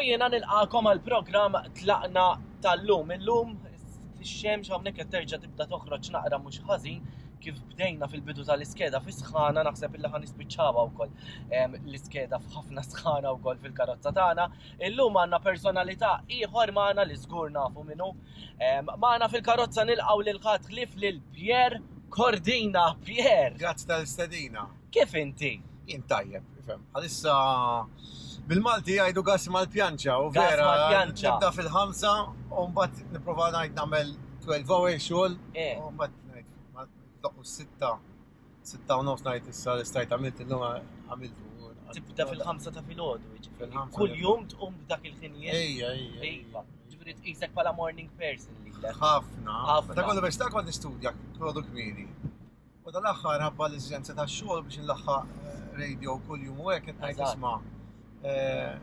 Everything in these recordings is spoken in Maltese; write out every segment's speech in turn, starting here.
jiena nilqakom għal programm Tlaqna tal-lum. Illum ix-xemx hawnhekk qed terġa' tibda toħroġ naqra mhux ħażin kif bdejna fil-bidu tal-iskeda fi sħana naħseb illi ħa nispiċċawha wkoll l-iskeda f'ħafna sħana wkoll fil-karozza tagħna. Illum għandna personalità ieħor magħna li żgur nafu minnu. Magħna fil-karozza nilqgħu lil ħadd ħlief lil Pierre Cordina. Pierre! Grazzi tal-istedina. Kif inti? Jien tajjeb, ifhem. Għalissa bil-Malti jgħidu gas mal-pjanċa u vera. Mal-pjanċa. Nibda fil-ħamsa u mbagħad nipprova ngħid nagħmel 12 hour xogħol eh. u mbagħad ngħid doqqu sitta 6:30 ngħid issa li stajt għamilt illum għamiltu. Tibda fil-ħamsa ta' filgħodu, jiġifieri. Kull jum tqum b'dak il-ħinijiet. Ejja, ejja. Iva. Ġifieri tqisek bħala morning person lilek. Ħafna. Ħafna. Ta' kollu biex ta' kont nistudja kollu kmieni. U dal-aħħar ħabba l-eżiġenza tax-xogħol biex nlaħħaq eh, radio kuljum u hekk qed ngħid isma' eh,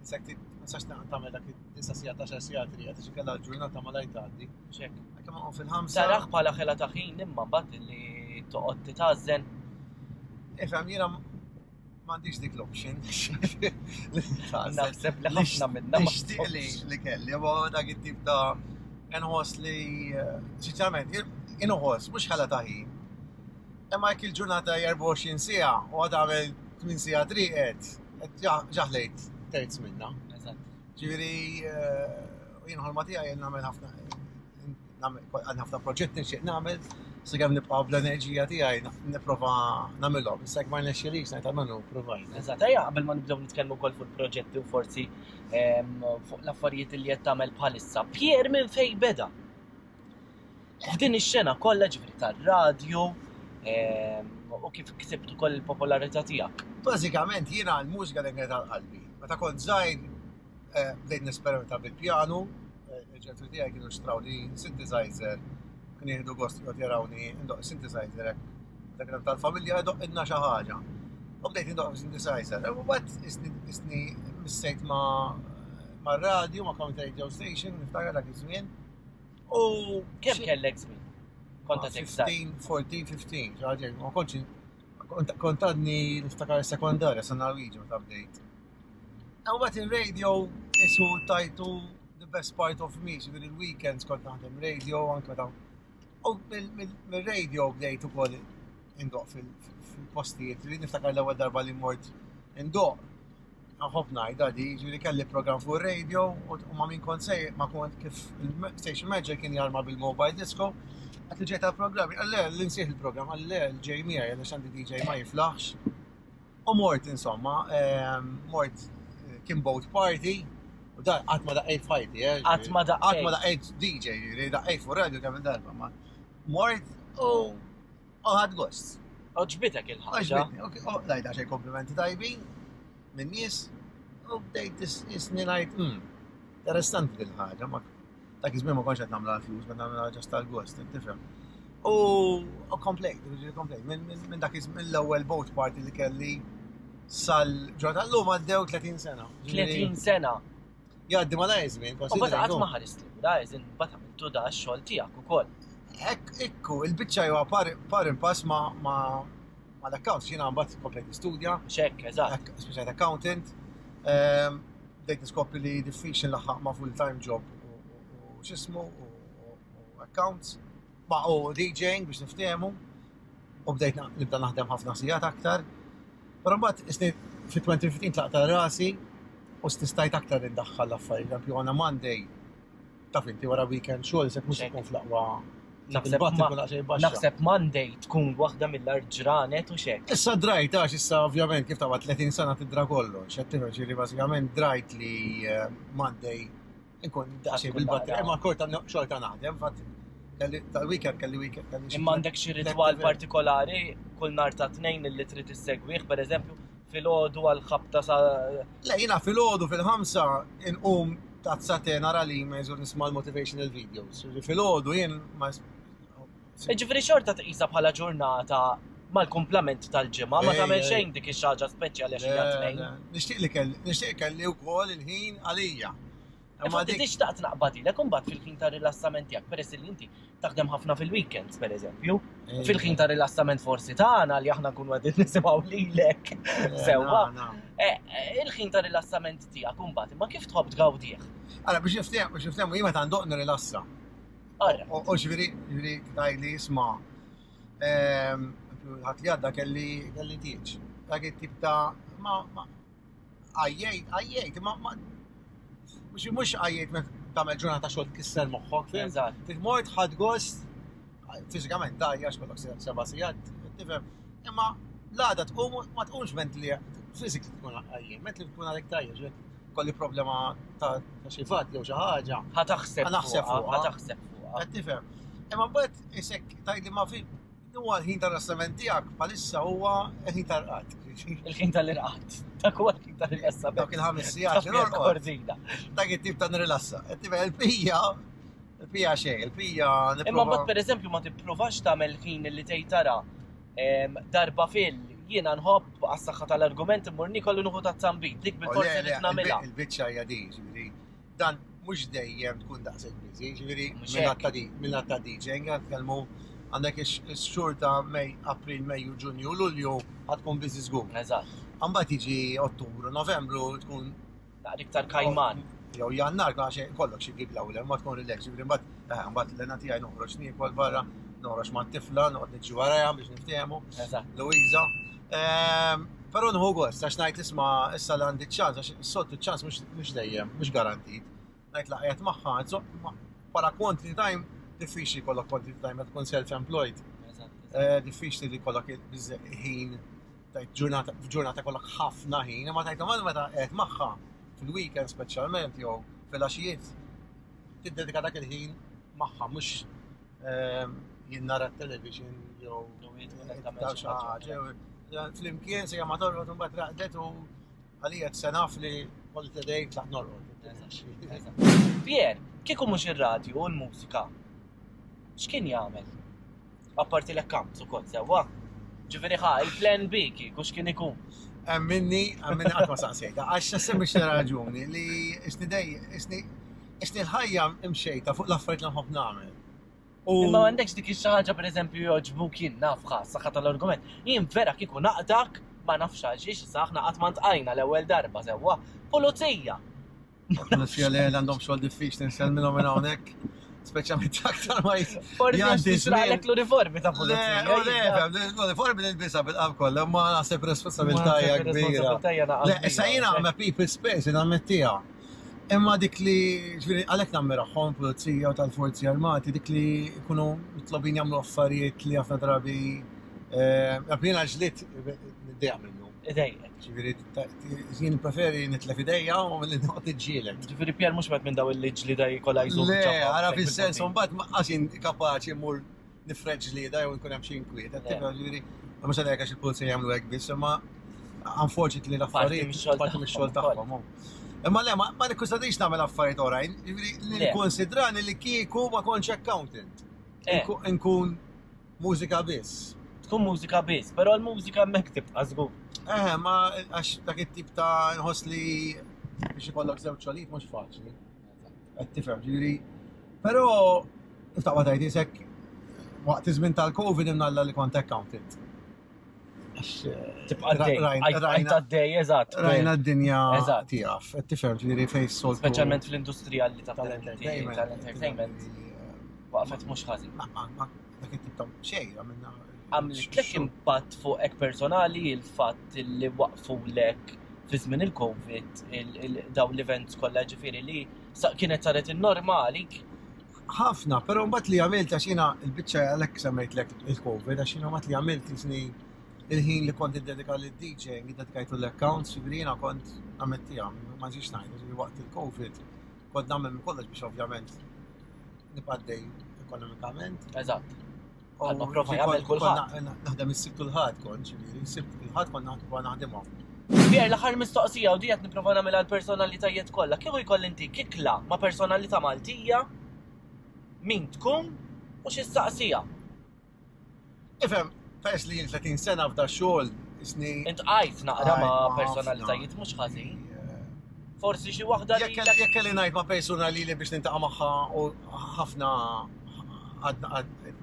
Insek ma tistax tagħmel dak id-disa' sigħat għaxar sigħat li qed kellha l-ġurnata malajr tgħaddi. Xek. Kemm għom fil-ħamsa. Taraħ bħala ħela ta' ħin imma mbagħad li toqgħod titgħażen. Ifhem jiena m'għandix dik l-option. Naħseb li ħafna minna. Nixtieq li li kelli, ma dak it-tip ta' nħoss li eh, sinċerament inħoss mhux ħela ta' ħin. Imma jekk il-ġurnata 24 siegħa u għad għamel 8 siegħa triqet, ġaħlejt terz minna. Ġifieri eh, jien ħolma tiegħi nagħmel ħafna għandna ħafna proġetti nixtieq nagħmel, sakemm nibqa' bl-enerġija tiegħi nipprova nagħmilhom. Issa jekk ma rnexxilix ngħid almenu provajt. Eżatt, ejja qabel ma nibdew nitkellmu wkoll fuq proġetti u forsi ehm, fuq l-affarijiet li qed tagħmel bħalissa. Pier minn fejn beda? F'din ix-xena kollha ġifieri tar-radju ehm, u kif ksibt ukoll il-popolarità tiegħek. Bażikament jiena l-mużika dejjem kienet għal qalbi. Meta kont żgħir eh, bdejt nesperimenta bil-pjanu, eh, il-ġenituri tiegħi kienu xtraw li synthesizer, kien jieħdu gost joqgħod jarawni ndoq synthesizer hekk. Dak kien tal-familja jdoq inna xi ħaġa. U bdejt ndoq synthesizer. U mbagħad isni missejt ma' ma' radio, ma' community radio station, niftakar dak iż-żmien. U kemm kellek żmien? Kont għadek 15, 14, 15, ġaġek, ma kontx kont għadni niftakar sekondarja sa Norwegian meta bdejt. U mbagħad il-radio isu tajtu the best part of me, ġifieri il-weekends kont naħdem radio anke meta. U mill-radio bdejt ukoll indoq fil-postijiet, niftakar l-ewwel darba li mort indoq Nħobb ngħidha di, ġifieri kelli programm fuq ir-radio u ma' min kont sej, ma' kont kif il-station manager kien jarma bil-mobile disco, għat li ġejt għal-programm, għalle l-insieħ il-programm, għalle l-ġej miegħi għaliex għandi DJ ma jiflaħx. U mort insomma, ehm, mort eh, kien boat party, u da qatt ma daqqejt fajti, eh. Qatt ma daqqejt. Qatt ma daqqejt DJ, ġifieri daqqejt fuq radio kemm darba, ma mort u U ħadd gost. Oġbitek il-ħaġa. Oġbitni, u lajta xej komplimenti tajbin minn nies u bdejt jisni ngħid, hmm, interessanti din ħaġa, ma dak iż-żmien ma kontx qed nagħmlu għall-flus, ma nagħmlu ġast tal-gost, tifhem. U komplejt, komplejt, minn dak iż-żmien l-ewwel boat party li kelli sal-ġurnata l-lum għaddew 30 sena. 30 sena. Jgħaddi ma lajn żmien, U bata qatt ma ħarist lura, eżin bata għamiltu da x-xogħol tiegħek ukoll. Hekk ikku, il-biċċa jew par par impass ma ma ma l-accounts, jiena mbagħad komplejt nistudja. Xekk, eżatt. Speċjal accountant. Ehm, bdejt niskopri li diffiċli nlaħħaq ma' full-time job u x'ismu u accounts. Ma u DJing biex niftehmu u bdejt nibda naħdem ħafna sigħat aktar. Però mbagħad isni fi 2015 tlaqt rasi u stistajt aktar indaħħal l-affarijiet. Eżempju għandna Monday taf inti wara weekend xogħol se mhux ikun fl-aqwa Naħseb Monday tkun waħda mill-art ġranet u xek. Issa drajt, għax issa ovvjament kif ta' 30 sena tidra kollox, qed tifhem ġieli bażikament drajt li eh, Monday Inkun daqsxejn bil-batterija, imma korta xorta naħdem, fatt tal-weekend kelli weekend kelli. Imma għandek xi ritwal partikolari kull nhar ta' tnejn li trid issegwih, pereżempju, filgħodu għal ħabta sa. Le jiena filgħodu fil-ħamsa inqum tazza te nara l-emails u nisma' l-motivational videos. Filgħodu jien ma Ġifieri xorta tqisha bħala ġurnata mal-kumplament tal-ġimgħa, ma tagħmel xejn dik ix-xaġa speċjali għax hija tnejn. Nixtieq li kelli, nixtieq kelli wkoll il-ħin għalija. Imma dik xtaqt naqbadilek imbagħad fil-ħin ta' rilassament tiegħek peress li inti taħdem ħafna fil-weekends pereżempju. Eh. Fil-ħin ta' rilassament forsi tagħna li aħna nkunu qegħdin nisimgħu lilek. Eh, Sewwa. Eh, il-ħin ta' rilassament tiegħek imbagħad imma kif tħobb tgawdih? Ara biex niftehmu biex niftehmu jien meta ndoq nirrilassa. U ġifieri ġifieri tgħidli isma' ehm, ħadd li għadda kelli kelli tieġ. Dak it-tip ta' ma għajjejt, għajjejt, ma mhux mhux għajjejt meta tagħmel ġurnata xogħol tkisser moħħok, fim? Eżatt. Mort ħadd gost, fiżikament dajja x'kollok seba' sigħat, tifhem. Imma l-għada tqum ma tqumx mentli physically tkun għajjien, mentli tkun għalek tajja, kolli problema ta' xi fatt jew xi ħaġa. Ħa taħseb. Ħa naħseb fuqha. Ħa taħseb fuqha. Qed tifhem. Imma mbagħad isek tgħidli ma fi Huwa l-ħin tar-rassament tiegħek bħalissa huwa l-ħin tal-irqad. Il-ħin tal-irqad. Dak huwa l-ħin tal-rilassament. Dak il-ħames sigħat li norqod. Dak it-tip ta' nirrilassa. Qed il-pija, il-pija xejn, il-pija Imma mbagħad pereżempju ma tippruvax tagħmel ħin li tgħid tara darba fil jiena nħobb għas-saħħa tal-argument immur niekol u nieħu tazzambit. Dik bil-forsi li nagħmilha. Il-biċċa hija di, ġifieri dan mhux dejjem tkun daqshekk busy, ġifieri minn ta' DJ, nitkellmu għandek ix-xhur ta' Mej, April, Mejju, Ġunju, Lulju ħad tkun busy żgur. Eżatt. Mbagħad jiġi Ottubru, Novembru tkun naqra iktar kajman. Jew Jannar għax kollok xi gig l-ewwel, ma tkun relax, ġifieri mbagħad eh, mbagħad l-lena tiegħi noħroġ niekol barra, noħroġ mat-tifla, noqgħod niġi warajha biex niftehmu. Eżatt. Luisa. Ehm, però nħu gost għax ngħid isma' issa li għandi ċans għax s-soltu ċans mhux dejjem, mhux garantit. Ngħid laqgħet magħha, bħala quantity time diffiċli jkollok quantity time meta tkun self-employed. Eh, diffiċli li jkollok ħin tajt ġurnata ġurnata kollok ħafna ħin, imma tajt meta qed magħha fil-weekend speċjalment jew fil-għaxijiet tiddedika dak il-ħin magħha mhux ehm, jien nara t-television jew tagħmel xi ħaġa. Flimkien se ma torqod imbagħad raqdet u għalija se naf li kolli tedej tlaq norqod. Pier, kieku mhux ir-radju u l-mużika, x'kien jagħmel? Apparti l-accounts ukoll sewwa. Ġifieri ħa, il-plan B kieku x'kien ikun? Minni, minni qatt ma saqsejta, għax sempliċi raġuni li isni dej, isni Isni l-ħajja imxejta fuq l-affarijiet li nħobb nagħmel. U Imma m'għandekx dik xi ħaġa pereżempju jogħġbuk jien naf ħa saħħa tal-argument. Jien vera kieku naqdak ma nafx għalxiex issa aħna qatt ma ntqajna l-ewwel darba sewwa. Pulizija! Pulizija li għandhom xogħol diffiċli nsellmilhom minn hawnhekk. Speċjalment aktar ma Forsi għax tixraqlek l-uniformi ta' pulizija. Le, le, l-uniformi nilbisha bil-qalb kollha, ma naħseb responsabilità hija kbira. Le, issa jiena ma people's space, nammettiha. Imma dik li, ġifieri għalhekk nammirahom pulizija u tal-forzi armati, dik li jkunu mitlobin jagħmlu affarijiet li ħafna drabi eh, jiena ġlied niddejjaq minnu. Idejjek. Ġifieri jien preferi nitlef idejja u milli noqgħod niġġieled. Ġifieri Pier mhux wieħed minn daw li ġlida jkollha jżomm. Le, ara fis-sens mbagħad ma qas jien kapaċi mmur nifred ġlieda jew nkun hemm xi inkwiet. Ġifieri, mhux għalhekk għax il-pulizija jagħmlu hekk biss, imma unfortunately l-affarijiet parti mix-xogħol tagħhom. Imma le, ma nikkonsidrix nagħmel affarijiet oħrajn, jiġifieri li nikkonsidrani li kieku ma kontx accountant. Eh. Nkun mużika biss. Tkun mużika biss, però l-mużika hemmhekk tibqa' żgur. Eh, ma għax dak it-tip ta' nħoss li biex ikollok żewġ xogħlijiet mhux faċli. Qed tifhem, ġifieri. Però iftaqwa tajt isek waqt iż-żmien tal-Covid imnalla li kont accountant. Tibqa' dej, għajt għaddej, eżatt. Rajna d-dinja tiegħek, qed tifhem ġifieri fejn soltu. Speċjalment fl-industrija li tal-entertainment. Tal-entertainment. Waqfet mhux ħażin. Dak it-tip ta' xejn għamilna. Għamlitlek impatt fuqek personali il-fatt li waqfulek fi żmien il-Covid dawn l-events kollha ġifieri li kienet saret in-normali Ħafna, però mbagħad li għamilt għax jiena l-biċċa għalhekk semmejtlek il-Covid għax jiena mbagħad li għamilt jisni il-ħin li kont iddedika lid-DJing, iddedikajtu l-accounts, ġifieri jiena kont nammettiha, ma nġiex ngħid, ġifieri waqt il-Covid kont nagħmel minn kollox biex ovvjament nibqa' għaddej ekonomikament. Eżatt. Bħalma prova jagħmel kulħadd. Naħdem is-Sibt u l-Ħadd kont, ġifieri, s-Sibt u l-Ħadd kont naħdem naħdimhom. Pier, l-aħħar mistoqsija u di qed nipprova nagħmilha l-personalitajiet kollha. Kieku jkolli inti kikla ma' personalità Maltija, min tkun u xi ssaqsiha? Ifhem, peress li jien 30 sena f'da xogħol, isni. Intqajt naqra ma' personalitajiet mhux ħażin. Forsi xi waħda li. Jekk kelli ngħid ma' persuna li li biex nintaqa' magħha u ħafna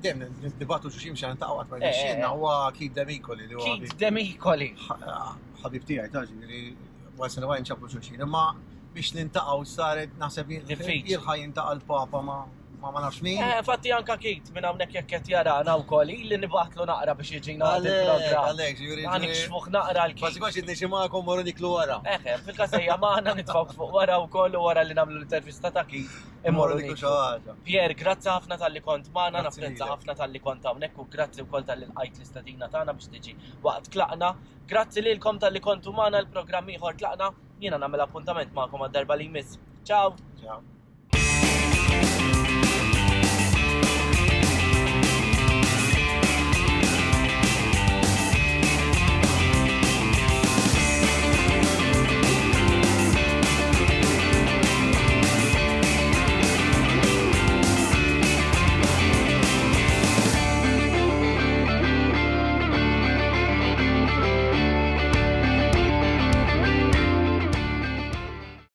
dejjem nibatu xi xi nintaqgħu qatt ma eh, eh, eh. huwa Keith Demicoli li huwa. Keith Demicoli. Ħabib tiegħi ta' ġifieri once in a while nċabbu xulxin, imma biex nintaqgħu saret naħseb jilħa jintaqa' l-Papa ma' ma ma nafx min. Eh, fatti anka Kit minn hawnhekk jekk qed jarana wkoll ili nibgħatlu naqra biex jiġina għal il-programm. Għalhekk, ġifieri. Għan nikxfuh naqra l-Kit. Kważi kważi nixi magħkom morru niklu wara. Eħe, fil-kasejja magħna nitfgħu fuq wara wkoll u wara li nagħmlu l-intervista ta' Kit. Immorru niklu xi ħaġa. Pier, grazzi ħafna talli kont magħna, napprezza ħafna talli kont hawnhekk u grazzi wkoll talli lqajt l-istedina tagħna biex tiġi waqt tlaqna. Grazzi lilkom talli kontu magħna l-programm ieħor tlaqna. Jiena nagħmel appuntament magħkom għad-darba li jmiss. Ciao. Ciao.